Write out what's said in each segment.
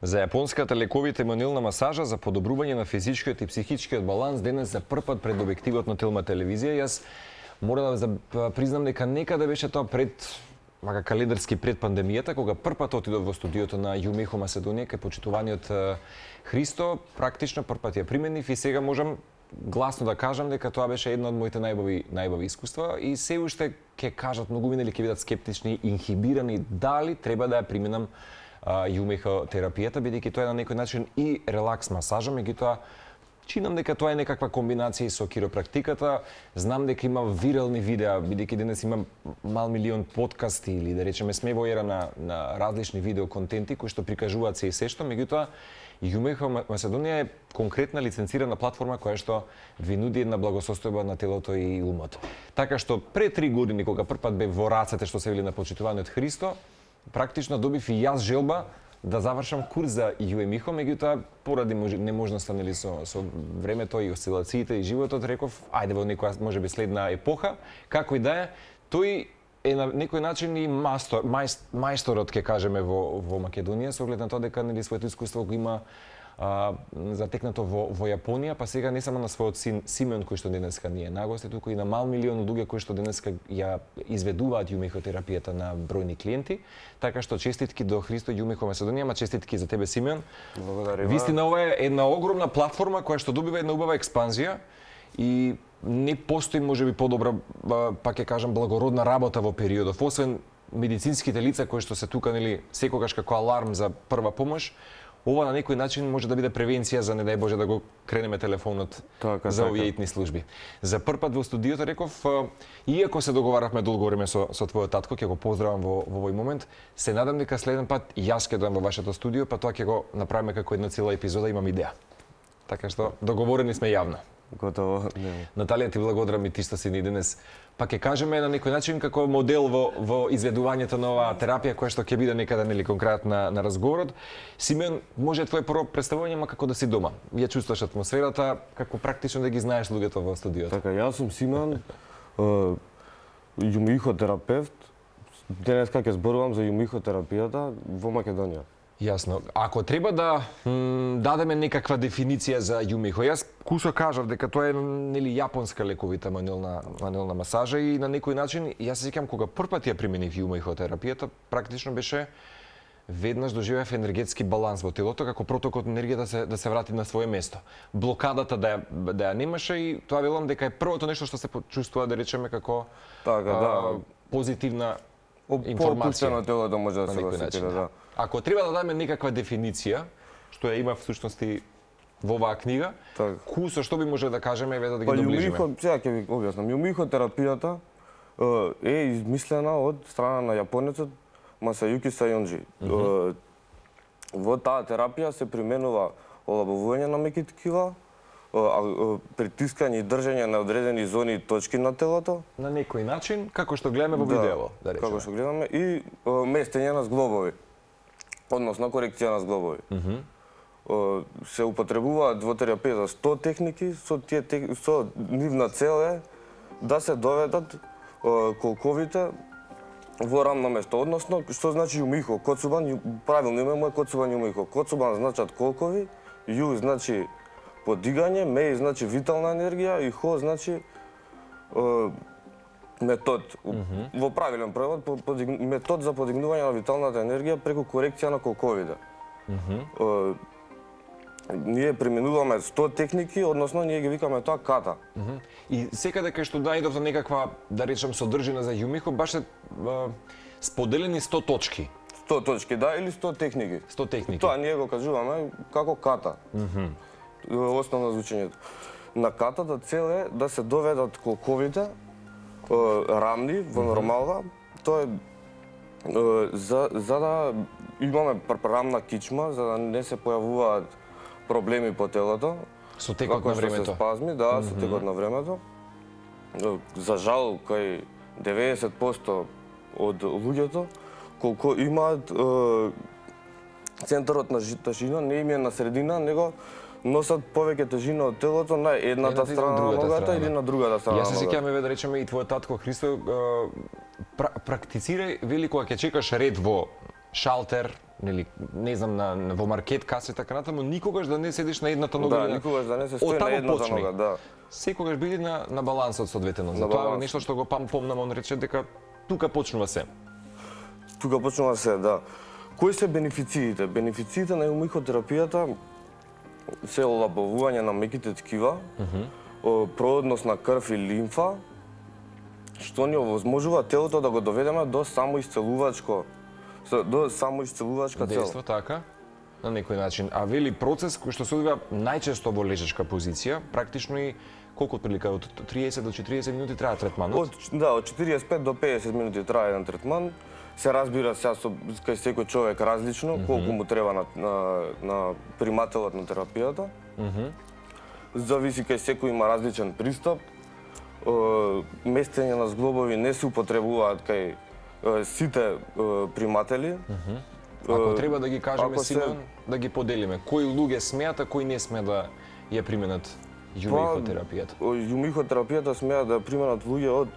За јапонската лековита мануелна масажа за подобрување на физичкиот и психичкиот баланс денес за прв пат пред објективот на Телма телевизија. Јас мора да признам дека некаде беше тоа пред календарски пред пандемијата, кога прв пат отидов во студиото на Јумихо Маседонија кај почитуваниот Христо, практично прв пат ја применив и сега можам гласно да кажам дека тоа беше едно од моите најбави искуства и се уште ќе кажат многумина или ќе бидат скептични, инхибирани дали треба да ја применам Јумихо терапијата, бидејќи тоа е на некој начин и релакс масажа, меѓутоа чинам дека тоа е некаква комбинација со киропрактиката. Знам дека има вирални видеа, бидејќи денес има мал милион подкасти или да речеме сме во ера на различни видео контенти кои што прикажуваат се и се што, меѓутоа Јумихо Маседонија е конкретна лиценцирана платформа која што ви нуди една благосостојба на телото и умот. Така што пред 3 години кога прв пат бев во рацете што се вели на почитуваниот Христо, практично добив и јас желба да завршам курс за Јумихо, меѓутоа поради неможноста нели со времето и осцилациите и животот реков ајде во некоја можеби следна епоха, како и да е, тој е на некој начин и мајсторот ќе кажеме во Македонија со оглед на тоа дека нели своето искуство го има затекнато во Јапонија, па сега не само на својот син Симеон кој што денеска ни е на гости, туку и на мал милион луѓе кои што денеска ја изведуваат Јумихо терапијата на бројни клиенти. Така што честитки до Христо Јумихо Маседонија, ма честитки за тебе Симеон. Благодарам. Вистина ова е една огромна платформа која што добива една убава експанзија и не постои можеби подобра, па ќе кажам, благородна работа во периодов, освен медицинските лица кои што се тука нели секогаш како аларм за прва помош. Ова на некој начин може да биде превенција за не дај Боже да го кренеме телефонот за овие итни служби. За прв пат во студиото реков, иако се договаравме долго време со твојот татко, ќе го поздравам во овој момент, се надам дека следен пат јас ќе дојдам во вашето студио, па тоа ќе го направиме како една цела епизода, имам идеја. Така што договорени сме јавно. Готово. Наталија, ти благодарам и ти што си ни денес. Па ќе кажеме на некој начин како модел во изведувањето на оваа терапија која што ќе биде некаде нели конкретна на разговорот. Симеон, може твое прво представување, ма како да си дома. Ја чувствуваш атмосферата, како практично да ги знаеш луѓето во студиото. Така, јас сум Симеон, Јумихо терапевт. Денеска ќе зборувам за Јумихо терапијата во Македонија. Јасно. Ако треба да дадеме некаква дефиниција за Јумихо, јас кусо кажав дека тоа е нели јапонска лековита мануелна масажа и на некој начин јас се сеќавам кога прв пат ја применив Јумихо терапијата, практично беше веднаш доживеав енергетски баланс во телото, како протокот енергија да се врати на свое место. Блокадата да ја немаше и тоа велам дека е првото нешто што се почувствува да речеме како позитивна информација на телото може да се осети, да. Ако треба да дадеме некаква дефиниција, што ја има всушност и во оваа книга, кусо што би може да кажеме да ги доближиме? Сега ќе ви објаснам. Јумихо терапијата е измислена од страна на јапонецот Масајуки Сајонџи. Во таа терапија се применува олабавување на меки ткива, притискање и држање на одредени зони и точки на телото. На некој начин, како што гледаме во видео, да речеме. Како што гледаме и местење на зглобови, односно корекција на зглобови. Се употребуваат во терапија 100 техники, со нивна цел е да се доведат колковите во рамно место. Односно, што значи Јумихо? Коцубан, правилно име му е Коцубан Јумихо. Коцубан значат колкови, Ју значи подигање, Меј значи витална енергија и Хо значи метод. Во правилен превод, метод за подигнување на виталната енергија преку корекција на колковите. Ние применуваме 100 техники, односно ние ги викаме тоа ката. И секаде кај што најдов некаква, да речем, содржина за Јумихо, баш се споделени 100 точки. 100 точки, да, или 100 техники. 100 техники. Тоа ние го кажуваме како ката. Основно звучењето. На катата цел е да се доведат колковите рамни во нормална. Тоа е за да имаме рамна кичма, за да не се појавуваат проблеми по телото. Со текот на времето. Се спазми, да, со текот на времето. За жал, кај 90% од луѓето, колку имаат центарот на тежина, не им е на средина, него носат повеќе тежина од телото на едната страна на ногата или на другата страна. Јас се сеќавам, да речеме, и твојот татко Христо практицира вели кога ќе чекаш ред во шалтер, нели, не знам, во маркет каса и така натаму, никогаш да не седиш на едната нога. Да, никогаш да не се стои на едната нога, да. Секогаш биди на балансот со двете нозе. Тоа е нешто што го помнам, он рече дека тука почнува се. Тука почнува се, да. Кои се бенефициите? Бенефициите на еумихотерапијата се олабавување на меките ткива, проодност на крв и лимфа, што ни овозможува телото да го доведеме до самоисцелувачка цел. Дејство така, на некој начин. А вели процес кој што се одвива најчесто во лежачка позиција, практично и колку прилика од 30 до 40 минути трае третманот? Од 45 до 50 минути трае еден третман. Се разбира сега кај секој човек различно, колку му треба на примателот на терапијата. Зависи, кај секој има различен пристап. Местење на зглобови не се употребуваат кај сите приматели. Ако треба да ги кажеме, Симеон, да ги поделиме. Кои луѓе смеат, а кои не смеат да ја применат јумихотерапијата? Јумихотерапијата смеат да ја применат луѓе од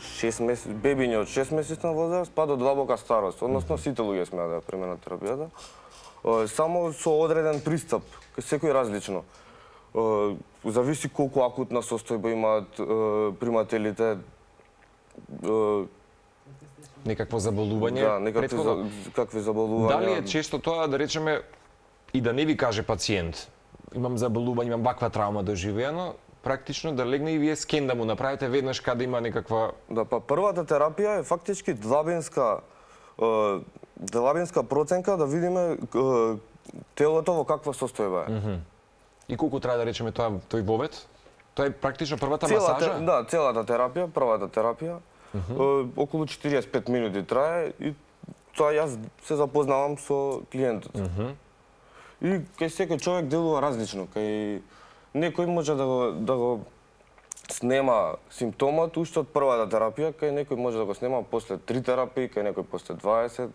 6 месеци, бебиња од 6 месечна возраст па до длабока старост. Односно сите луѓе смеат да ја применат терапијата. Само со одреден пристап, кај секој различно. Зависи колку акутна состојба имаат примателите. Некакво заболување? Да, некакви заболувања. Дали е често тоа да речеме и да не ви каже пациент, имам заболување, имам ваква травма доживеано, практично да легне и вие скен да му направите веднаш каде има некаква... Да, па првата терапија е фактички длабенска проценка да видиме телото во каква состојба е. И колку треба да речеме тој вовет? Тоа е практично првата масажа? Да, целата терапија, првата терапија. Околу 45 минути трае и тоа јас се запознавам со клиентот. И кај секој човек делува различно, кај некој може да го снема симптомот уште од првата терапија, кај некој може да го снема после 3 терапии, кај некој после 20,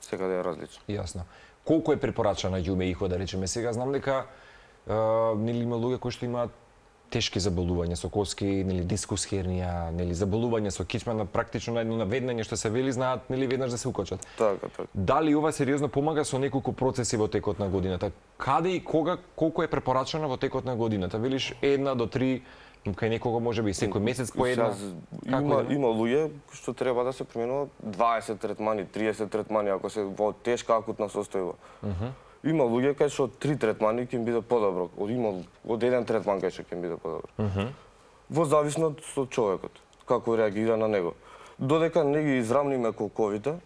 секаде е различно. Јасно. Колку е препорачана јумеихо, да речеме сега? Знам дека нели има луѓе кои што имаат тешки заболувања со коски, нели дискус хернија, нели заболување со кичма, практично на едно наведнење што се вели знаат нели веднаш да се укочат. Така. Дали ова сериозно помага со неколку процеси во текот на годината? Каде и кога, колку е препорачано во текот на годината? Велиш 1 до 3, кај некого можеби секој месец по една? Има луѓе што треба да се применуваат 20 третмани, 30 третмани ако се во тешка акутна состојба. Има луѓе кај што 3 третмани ќе им биде подобро, од еден третман кај што ќе им биде подобро. Во зависност од човекот, како реагира на него. Додека не ги израмниме колковите,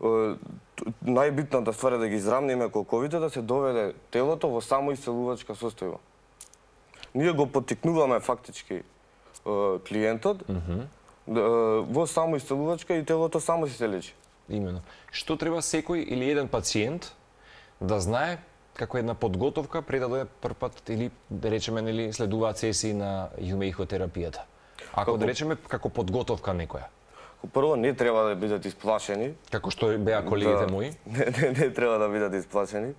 најбитната ствар е да ги израмниме колковите, да се доведе телото во самоисцелувачка состојба. Ние го поттикнуваме фактички клиентот во самоисцелувачка и телото само се лечи. Имено. Што треба секој или еден пациент да знае како една подготовка пред да дојде прв пат или да речеме нели следуваат сесии на јумеихотерапијата? Ако да речеме како подготовка некоја. Прво не треба да бидат исплашени. Како што беа колегите мои? Не треба да бидат исплашени.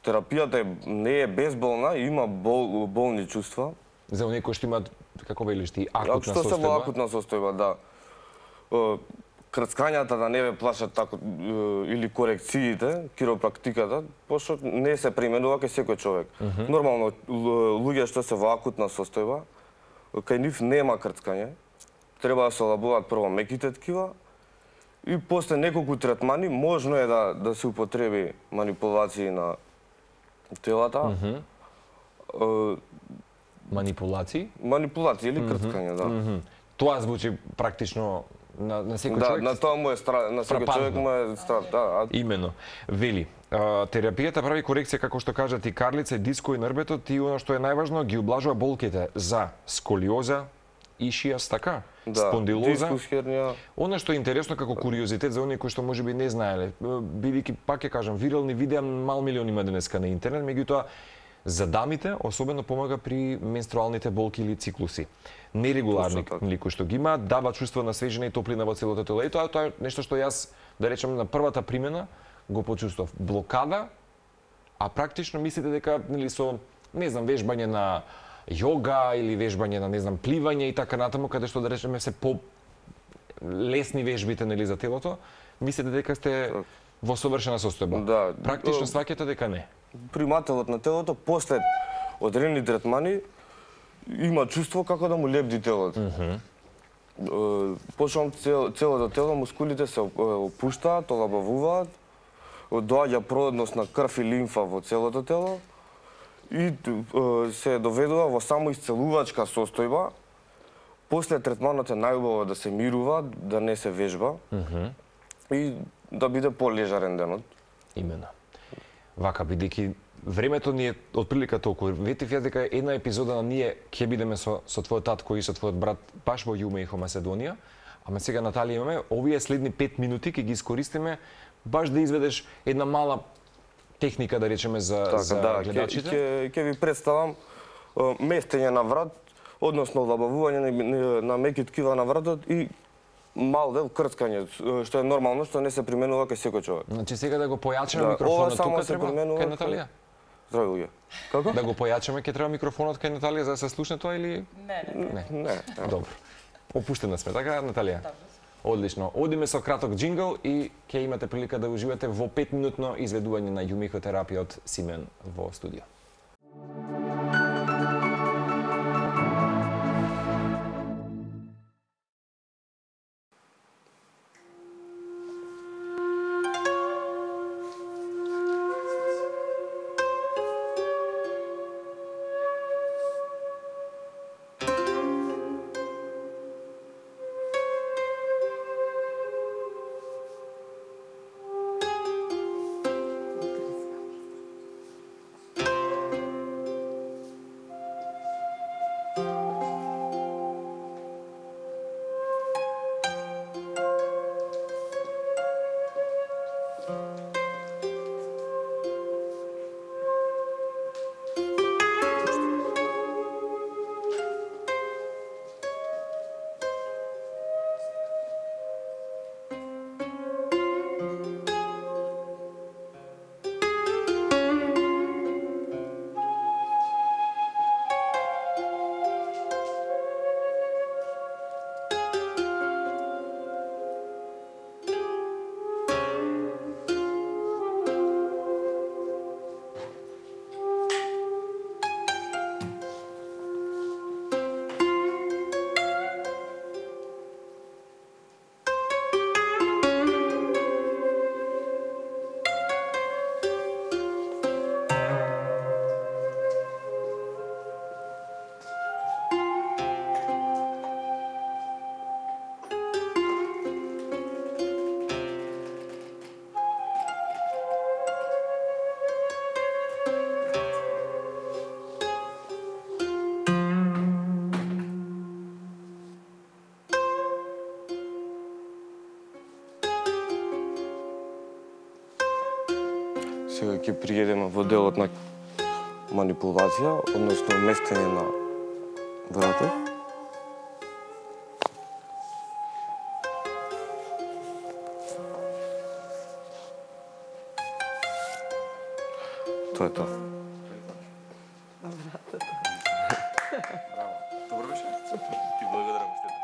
Терапијата не е безболна, има болни чувства. За оние кои што имаат, како велиш ти, акутна состојба? Што се во акутна состојба, да. Крцкањата да не ве плашат тако, или корекциите, киропрактиката, пошто не се применува кај секој човек. Нормално, луѓе што се во акутна состојба, кај нив нема крцкање, треба да се олабуваат прво меките ткива, и после неколку третмани можно е да се употреби манипулации на телата. Манипулации? Манипулации или крцкање, да. Тоа звучи практично на секој човек. Да, на тоа му е страх, на секој човек му е страх, да. Имено. Вели, терапијата прави корекција, како што кажат и карлица, диско и нрбетот, и оно што е најважно, ги облажува болките за сколиоза, ишијас, така? Да, спондилоза. дискус хернија. Оно што е интересно како куриозитет за оние кои што можеби не знаеле, бидејќи пак ќе кажам, вирални видеа мал милион има денеска на интернет, меѓутоа за дамите особено помага при менструалните болки или циклуси. Нерегуларни кои што ги имаат, дава чувство на свежина и топлина во целото тело. И тоа е нешто што јас, да речем, на првата примена го почувствував. Блокада, а практично мислите дека нели со, не знам, вежбање на јога или вежбање на, не знам, пливање и така натаму, каде што, да речеме, се лесни вежбите нели за телото, мислите дека сте во совршена состојба. Да. Практично сваќате дека не. Примателот на телото после одредени третмани има чувство како да му лепди телото. Почнам целото тело, мускулите се опуштаат, олабавуваат, доаѓа проводност на крв и лимфа во целото тело и се доведува во самоисцелувачка состојба. После третманот е најубаво да се мирува, да не се вежба и да биде полежарен денот. Имено. Вака, бидејќи времето ни е отприлика толку. Ветив јас дека една епизода на ние ќе бидеме со твојот татко и со твојот брат баш во Јумеихо, Македонија. Ама сега, Наталија, имаме овие следни 5 минути ќе ги искористиме баш да изведеш една мала техника, да речеме, за гледачите. Ќе ви представам местење на врат, односно лабавување на меки ткива на вратот и мал дел крцкање, што е нормално, што не се применува кај секој човек. Значи сега да го појачаме микрофонот тука треба кај Наталија? Здрави луѓе. Како? Да го појачаме ќе треба микрофонот кај Наталија за да се слушне тоа или Не. Добро. Опуштена сме, така Наталија? Одлично. Одиме со краток джингл и ќе имате прилика да уживате во 5-минутно изведување на јумеихотерапија од Симен во студио. Сега ќе приедеме во делот на манипулација, односно местење на вратот. Тоа е тоа. Добро беше. Ти благодарам, Стефан.